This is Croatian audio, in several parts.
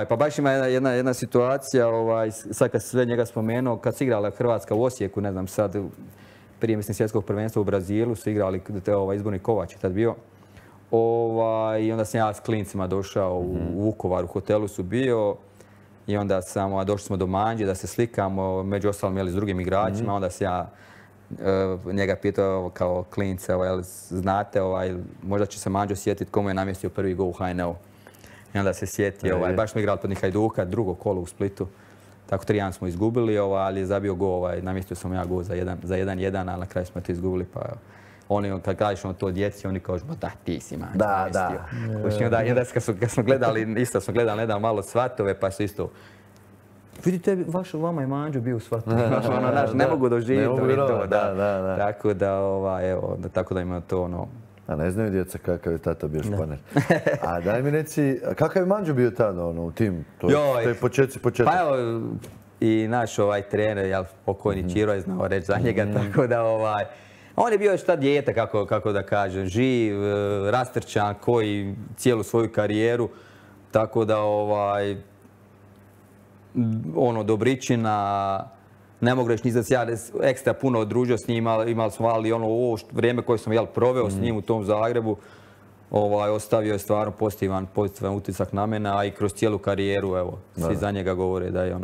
Pa baš ima jedna situacija, sad kad sve njega spomenuo, kad se igrala Hrvatska u Osijeku, ne znam sad, prije mislim svjetskog prvenstva u Brazilu su igrali, izborni Kovač je tad bio. I onda sam ja s klincima došao u Vukovar, u hotelu su bio. I onda došli smo do Manđe da se slikamo, među ostalim s drugim igračima. Onda sam ja njega pitao kao klince, znate, možda će se Manđo sjetiti komu je namjestio prvi gol u HNL-u. I onda se sjetio, baš smo igrali protiv Hajduka, drugo kolo u Splitu. Tako 3-1 smo izgubili, ali je zabio gol, namjestio sam ja gol za 1-1, ali na kraju smo to izgubili. Pa oni, kad kažeš to djeci, oni kažu, da, ti si Manđo namjestio. Da. I onda kad smo gledali, isto smo gledali nedavno malo Svatove, pa su isto, vidite, vama je Manđo bio u Svatove. Ne mogu doživjeti to. Tako da ima to ono. A ne znaju djeca kakav je tata bio španer. A daj mi reci, kakav je Manđo bio tada u tim? To je početci. Pa evo, i naš trener, pokojni Čiro je znao reći za njega, tako da on je bio još tad dijete, kako da kažem, živ, rastrčan, koji cijelu svoju karijeru, tako da Dobričina, ne mogu reći ni da se ja ekstra puno odružio s njim, imali smo ovo vrijeme koje sam proveo s njim u tom Zagrebu, ostavio je stvarno pozitivan utisak na mene, a i kroz cijelu karijeru, evo, svi za njega govore da je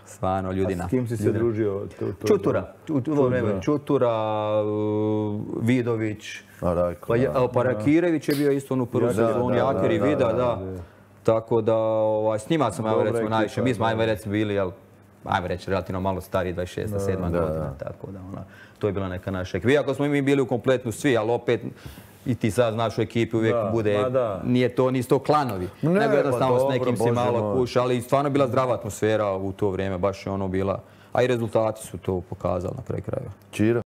stvarno ljudina. A s kim si se družio? Čutura, Vidović, pa Rakirević je bio isto u prvu sezonu, Jaker i Vida, da. Tako da, s njima sam, recimo, najviše, mi smo, bili, ajmo reći, relativno malo stariji, 26. 7. godina, tako da to je bila neka naša ekipa. Iako smo mi bili u kompletnu svi, ali opet i ti sad znaš u ekipi uvijek bude, nisu to klanovi, nego jednostavno s nekim si malo kuša, ali stvarno je bila zdrava atmosfera u to vrijeme, baš je ono bila, a i rezultati su to pokazali na kraju krajeva. Čiro?